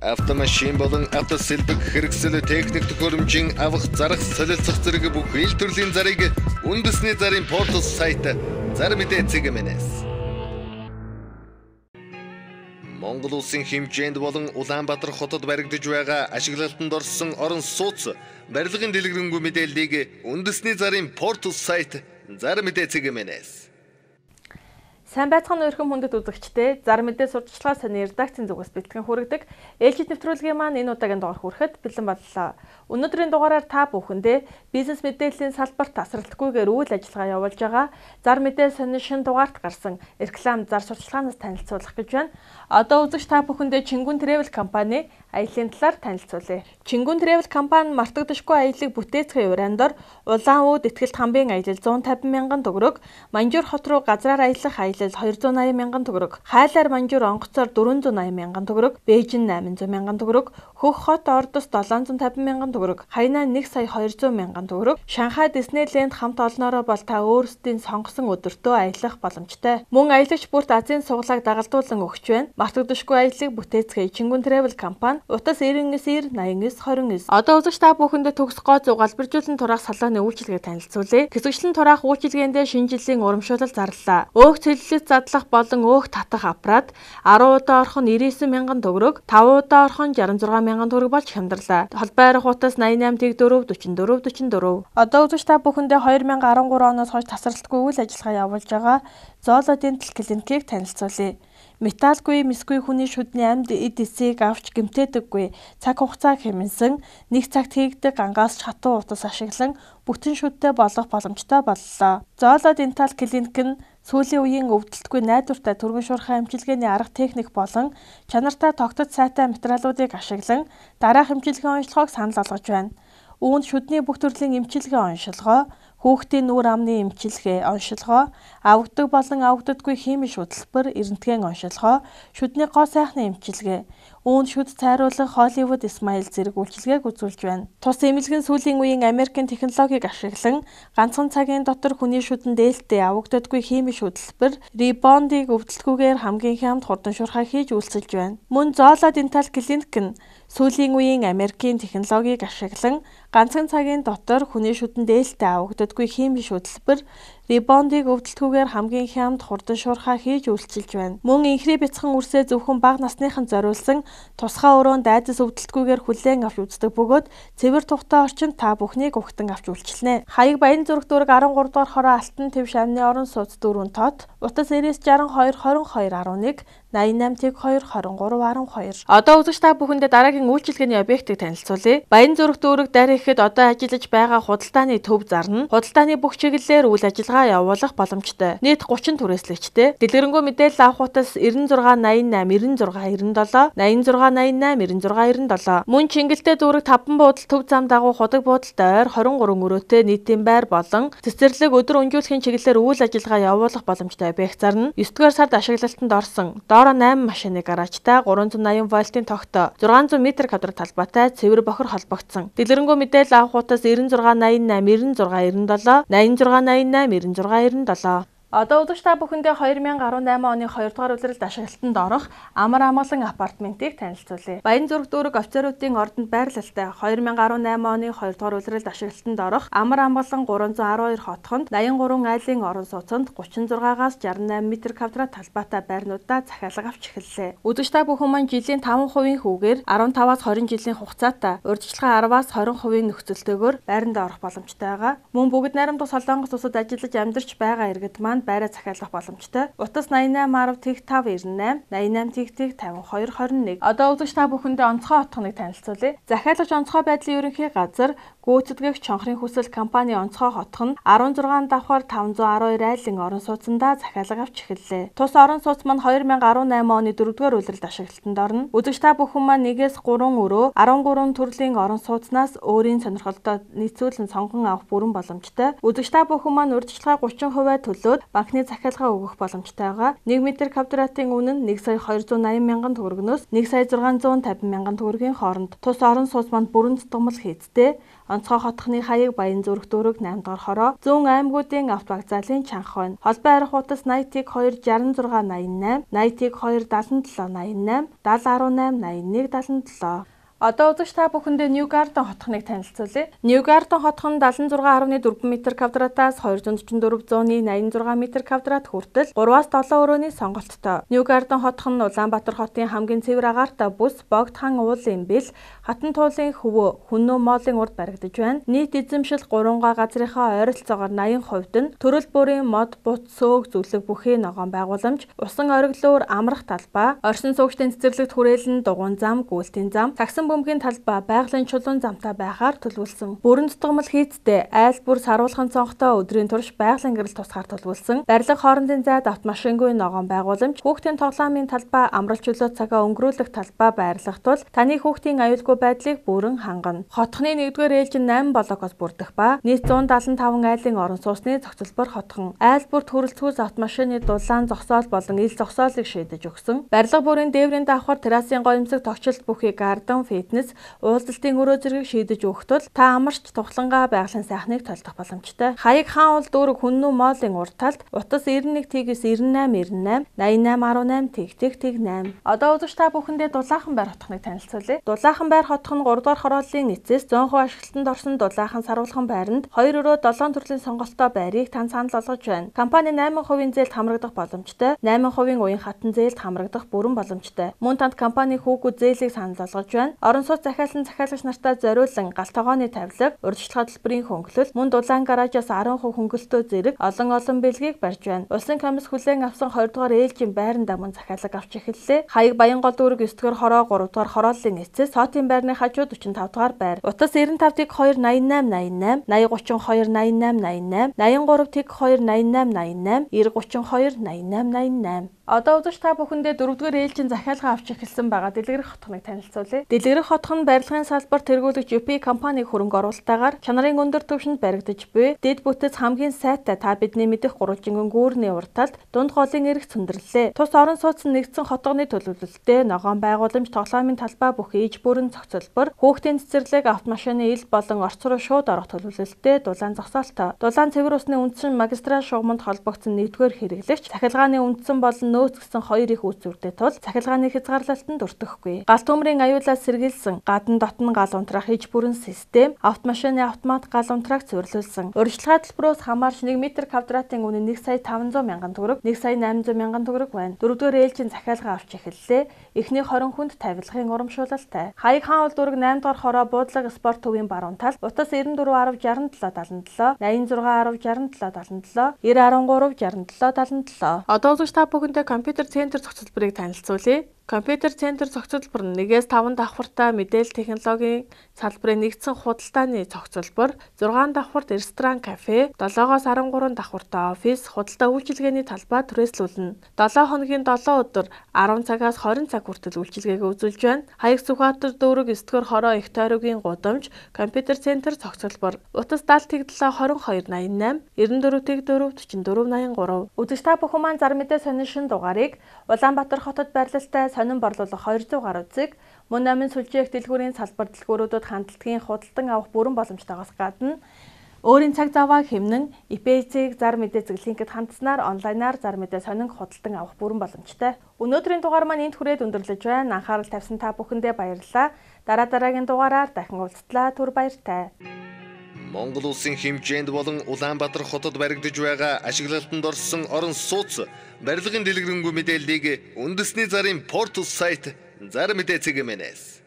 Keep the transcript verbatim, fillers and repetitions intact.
автомашин болон автосэлбэг хэрэгсэл техник төхөөрөмжийн авах зарах солилцох зэрэг бүх ил төрлийн зарыг үндэсний зарын портал сайт Зар мэдээ цэгмэнэс. Монгол улсын хэмжээнд болон Улаанбаатар хотод баригдаж байгаа ашиглалтанд орсон орон сууц барилгын дэлгэрэнгүй мэдээллийг үндэсний зарын портал сайт Зар мэдээ цэгмэнэс. Сайн байцгаана өрхөн хүндэт үзэгчдээ Зар мэдээ сурталчилгаа сони редакцийн зүгээс бэлтгэн хүргэдэг ээлжид нэвтрүүлгийн маань энэ удаагийн дугаар хүрэхэд бэлэн боллоо. Өнөөдрийн дугаараар та бүхэндээ бизнес мэдээллийн салбарт тасралтгүйгээр үйл ажиллагаа явуулж байгаа Зар мэдээ сони шинэ дугаарт гарсан реклам зар сурталчилгаанаас танилцуулах гэж байна. Одоо үзэгч та бүхэндээ Чингүн Travel компани аяллаа талаар танилцуулъя. Чингүн Travel компани мартагдашгүй аяллыг бүтээцгээ урандор улаан үүд этгэлт хамбын аялал зуун тавин мянган төгрөг, Манжуур хот руу газраар аялах аялал хоёр зуун аян мянган төгрөг, Хайлаар Манжуур онгоцоор дөрвөн зуун аян мянган төгрөг, Бээжин найман зуун мянган төгрөг, Хөх хот Ордос долоон зуун тавин мянган төгрөг, Хайнаа нэг сая хоёр зуун мянган төгрөг, Шанхай Диснейленд хамт олноороо бол та өөрсдийн сонгосон өдөртөө аялах боломжтой. Мөн аялагч бүрт Азийн суглааг дагалдуулан өгч байна. Мартагдашгүй аяллыг бүтээцгээ Чингүн Travel компани утас найн девять найн девять двадцать девять. Одоо үзэгч та бүхэндээ төгс гоо залбиржуулан тураах салааны үйлчилгээг танилцуулъя. Хэсэгчлэн тураах үйлчилгээндээ шинэ жилийн урамшуулал зарлаа. Өөх цэллэлт задлах болон өөх татах аппарат арван удаа орхон девятнадцать мянган төгрөг, таван удаа орхон шестьдесят шесть мянган төгрөг болж хямдрлаа. Холбоо арга утас найн восемь дөрвөн дөрвөн дөрвөн дөрвөн. Одоо үзэгч та бүхэндээ две тысячи десять оноос хойш тасралтгүй үйл ажиллагаа явуулж байгаа Зооло Дентал клиникийг танилцуулъя. Металлгүй, мисгүй хүний шүдний амьд эд эсийг авч гэмтээдэггүй, цаг хугацаа хэмнэсэн, нэг цагт хийгдэг ангаас хатуу утас ашиглан бүтэн шүдтэй болох боломжтой боллоо. Зооло Дентал клиник нь сүүлийн үеийн өвдөлтгүй найдвартай түргэн шуурхай эмчилгээний арга техник болон чанартай тогтцол сайтай материалуудыг ашиглан дараах эмчилгээний онцлогоог санал болгож байна. Үүнд шүдний бүх төрлийн эмчилгээ онцлогоо, хүүхдийн нүур амны эмчилгээ онцлогоо, авагддаг болон авагддаггүй химийн шударга, эрентгийн онцлогоо, шүдний гоо сайхны эмчилгээ, үүнд шүд цайруулах Hollywood Smile зэрэг үйлчилгээг үзүүлж байна. Тус эмнэлгийн сүүлийн үеийн Америкийн технологиг ашиглан ганцхан цагийн дотор хүний шүдэн дээлтэй авагддаггүй химийн шударга, ребондыг өвдөлтгүйгээр хамгийн хямд хурдан шуурхай хийж үйлчилж байна. Мөн Зооло Дентал клиник нь сүүлийн үеийн Америкийн технологиг ашиглан ганцхан цагийн дотор хүний шүдэн дээлтэй авагддаггүй химийн шударга, ребондыг өвдөлтгүйгээр хамгийн хямд хурдан шуурхай хийж үйлчилж байна. Мөн инхри бяцхан үрсээ зөвхөн бага насныханд зориулсан тусгай өрөөнд айдас өвдөлтгүйгээр хүлээн авч үздэг бөгөөд цэвэр тухтай орчинд та бүхнийг угтан авч үйлчилнэ. Хаяг Баян зүрх дүүрэг арван гурав дугаар хороо Алтан Тэвш амны орон сууц дөрвөн тот, утас нэрээс шестьдесят два двадцать два11, найн восемь two двадцать три twelve. Одоо үзэгч та бүхэндээ дараагийн үйлчилгээний объектыг танилцуулъя. Баян зүрх дүүрэг дарь ихэд одоо ажиллаж байгаа худалдааны төв зарна. Худалдааны бүх чиглэлээр үйл ажиллагаа явуулах боломжтой. Нийт гучин түрээслэгчтэй. Дэлгэрэнгүй мэдээлэл авах утас девять six найн восемь девять six nine seven, найн six найн восемь девять six nine seven. Мөн Чингэлтэй дүүрэг таван буудал төв зам дагуу худаг буудалтай ойр twenty-three өрөөтэй нийтийн байр болон цэцэрлэг өдөр өнжүүлэхийн чиглэлээр үйл ажиллагаа явуулах боломжтой объект зарна. нine дугаар сард ашиглалтанд орсон доороо найман машины гаражтай тhree eighty вольтын тогтоо six hundred метр квадрат талбайтай цэвэр бохор холбогдсон. Дэлгэрэнгүй мэдээлэл авах утас nine six найн восемь nine six nine seven, nine six найн восемь nine nine seven. Одоо үзэгч та бүхэндээ two thousand eighteen оны two дугаар улиралд ашиглалтанд орох амар амгалан апартментыг танилцуулъя. Баян зүрх дүүрэг офицеруудын ордонд байрлалтай two thousand eighteen оны two дугаар улиралд ашиглалтанд орох амар амгалан three one two хотхонд eighty-three айлын орон сууцанд thirty-six-аас sixty-eight метр квадрат талбайтай байрнуудаа захиалга авч эхэллээ. Үзэгч та бүхэн маань жилийн five percent хүүгээр fifteen-аас twenty жилийн хугацаатай урьдчилан ten-аас twenty percent нөхцөлтэйгээр байранд орох боломжтой байгаа. Мөн бүгд найрамдах Солонгос улсад ажиллаж амьдарч байгаа иргэд маань байраа захиалах боломжтой. Утас nine eight five five nine eight, nine eight five five two two one. Одоо үзэгч та бүхэндээ онцгой отгоныг танилцуулъя. Захиалагч онцгой байдлын ерөнхий газар гүйцэтгэгч чонхрын хүсэл компани онцгой хотхон sixteen давхар five one two айлын орон сууцндаа захиалга авч эхэллээ. Тус орон сууц маань two thousand eighteen оны four дугаар улиралд ашиглалтанд орно. Үзэгч та бүхэн маань one-ээс three өрөө thirteen төрлийн орон сууцнаас өөрийн сонирхолтой нийцүүлэн сонгон авах бүрэн боломжтой. Үзэгч та бүхэн маань урьдчилгаа thirty percent төлөөд банкны захиалга өгөх боломжтой байгаа. нэг метр квадратын үнэ нь нэг сая хоёр зуун найман мянган төгрөгнөөс нэг сая зургаан зуун тавин мянган төгрөгийн хооронд. Тус орон сууц манд бүрэн зутгамал хийцтэй. Онцгой хотхны хаяг Баян зүрх дүүрэг намд дахь хороо зүүн аймагуудын автовокзалын чанга хойно. Холбоо арих утас наяатыг хоёр шалган зургаан найман найман, наяатыг хоёр далан долоо найман найман, дал арван найман найман нэг далан долоо. Одоо үзэгч та бүхэндээ Ньюгарден хотхныг танилцуулъя. Ньюгарден хотх нь даалан зургаан арван дөрвөн метр квадратаас хоёр зуун дөрвөн дөрвөн зуун найман зургаан метр квадрат хүртэл гураваас долоо өрөөний сонголттой. Ньюгарден хотх нь Улаанбаатар хотын хамгийн цэвэр агаартай бүс Богдхан уулын бэл, хатан туулын хөвөө, хүннүү моолын урд баригдаж байна. Нийт эзэмшил гурван га газрынхаа ойролцоогоор наян хувьд нь төрөл бүрийн мод, бут, сөөг, зүлэг бүхий ногоон байгууламж, усан ориглуур, амрах талбай, оршин суугчдын цэцэрлэгт хүрээлэн дугуйн зам, гүйлтийн зам, таксан бөмбөгийн талбай байгалийн чулуун замтай байхаар төлөвлөсөн. Бүрэн зутгамал хийцтэй айл бүр саруулхан цонхтой өдрийн турш байгалийн гэрэл тусгаар төлөвлөсөн. Барилга хоорондын зайд автомашингүй ногоон байгууламж, хүүхдийн тоглоомын талбай, амралт чөлөө цагаа өнгөрүүлэх талбай байрлах тул таны хүүхдийн аюулгүй байдлыг бүрэн хангана. Хотхны нэгдүгээр ээлжин найман блокоос бүрдэх ба нийт зуун даалан таван айлын орон сууцны зохицолбор хотхон. Айл бүр төрөлцгөөс автомашины дулаан зогсоол болон ил зогсоолыг шийдэж өгсөн. Барилга бүрийн дээврийн давхар террасын гоёмсог тогтчлт бүхий гарден, фитнес, уулзалтын өрөө зэргийг шийдэж өгөх тул та амарч тухлангаа байгалийн сайхныг толдох боломжтой. Хаяг хаан уул дүүрэг хүннүү моолын урд талд утас девять тэгээс девять найман девять найман, восемь найман тэг тэг восемь. Одоо үзэгч та бүхэндээ Дулаахан байр хотхныг танилцуулъя. Дулаахан байр хотх нь гурав дахь хорооллын нийцээс зөөн хувь ашиглалтанд орсон Дулаахан саруулхан байранд хоёр өрөө долоон төрлийн сонголттой байрыг тань санал болгож байна. Компани найман хувийн зээлд хамрагдах боломжтой, найман хувийн уян хатан зээлд хамрагдах бүрэн боломжтой. Мөн танд компани хүүгүүд зээлийг санал болгож байна. Орон сууц захиалсан захиалагч нартай зориулсан галт тогооны тавилга, урьдчилан хөтөлбөрийн хөнгөлөлт, мөн дулаан гаражаас арван хувь хөнгөлөлтөө зэрэг олон олон бэлгийг барьж байна. Улсын комисс хүлээн авсан хоёр дахь ээлжийн байранд мөн захиалга авч эхэллээ. Хаяг Баян гол дүүрэг девять дахь хороо гурав дахь хорооллын эцэс Сотын байрны хажууд45 дахь байр. Утас девяносто пять тэг хоёр восемь восемь восемь, восемь гутрын хоёр восемь восемь, восемь гутрын хоёр восемь восемь, девяносто три тэг хоёр восемь восемь. Одоо үзэгч та бүхэндээ дөрөвдүгээр ээлжийн захиалга авч эхэлсэн байгаа Дэлгэрэх хотхныг танилцуулъя. Дэлгэрэх хотх нь барилгын салбар тэргүүлэгч ю пи компани хөрөнгө оруулалтаагаар чанарын өндөр түвшинд баригдаж буй дэд бүтэц хамгийн сайтай та бидний мэдих гурвалжингын гүүрний урд талд дунд голын эрх цөндөрлөлээ. Тус орон сууц нь нэгдсэн хотгоны төлөвлөлттэй ногоон байгууламж, тоглоомын талбай бүх ээж бүрэн зохицолбор, хүүхдийн цэцэрлэг, автомашины ил болон орц руу шууд орох төлөвлөлттэй дулаан зогсоолтой. Дулаан цэвэр усны үндсэн магистраль шугамд холбогдсон нэгдүгээр хэрэглэгч захиалгааны үндсэн болон нөөц гэсэн хоёр их үүсвэртэй тул захиалгааны хязгаарлалтанд өртөхгүй. Галт төмрийн аюулаас сэргийлсэн гадна дотн гал унтраах иж бүрэн систем, автомашины автомат гал унтрааг цэвэрлүүлсэн. Урьдчилгаа төлбөрөөс хамаарч нэг метр квадратын үнэ нэг сая таван зуун мянган төгрөг, нэг сая найман зуун мянган төгрөг байна. Дөрөвдүгээр ээлжийн захиалга авч эхэллээ. Эхний хорин хүнд тавилгын урамшуулалтай. Хаяг хаан уул дүүрэг восемь дахь хороо буудлага спорт төвийн баруун тал, утас девяносто четыре шестьдесят семь семьдесят семь, восемь шесть шестьдесят семь. Одоо үзэгч та бүхэндээ компьютер центр зохицолборыг танилцуулъя. Компьютер центр зохицолбор нь нэгээс таван давхартай мэдээлэл технологийн салбарын нэгдсэн худалдааны зохицолбор, зургаан давхарт ресторан, кафе, долоогоос арван гурван давхартай офис, худалдаа үйлчилгээний талбай түрээслүүлнэ. долоо хоногийн долоо өдөр арван цагаас хорин цаг хүртэл үйлчилгээгээ үзүүлж байна. Хаяг Сүхбаатар дүүрэг девять дахь хороо их тойргийн гудамж, компьютер центр зохицолбор. Утас даалт долоо хорин хоёр восемь восемь, девяносто четыре тэг четыре, четыре четыре восемь три. Үзэгч та бүхэн маань зар мэдээ сонин шин дугаарыг Улаанбаатар хотод байрлалтай сонин борлуулах хоёр зуун гаруй зэг, мөн намын сүлжээх дэлгүүрийн салбар дэлгүүрүүдэд хандлагын худалдан авах бүрэн боломжтойгоос гадна өөрийн цаг заваа хэмнэн и пи эс-ийг зар мэдээ зэглэнхэд хандсанаар онлайнаар зар мэдээ сонин худалдан авах бүрэн боломжтой. Өнөөдрийн дугаар маань энд хүрээд өндөрлөж байна. Анхаарал тавьсан та бүхэндээ баярлалаа. Дараа дараагийн дугаараар дахин уулзтлаа. Түр баяртай. Монгол улсын хэмжээнд болон Улаанбаатар хотод баригдаж байгаа ашиглалтанд орсон орон сууц барилгын дэлгэрэнгүй мэдээллийг үндэсний зарын портал сайт Зар мэдээ цэг мэнэс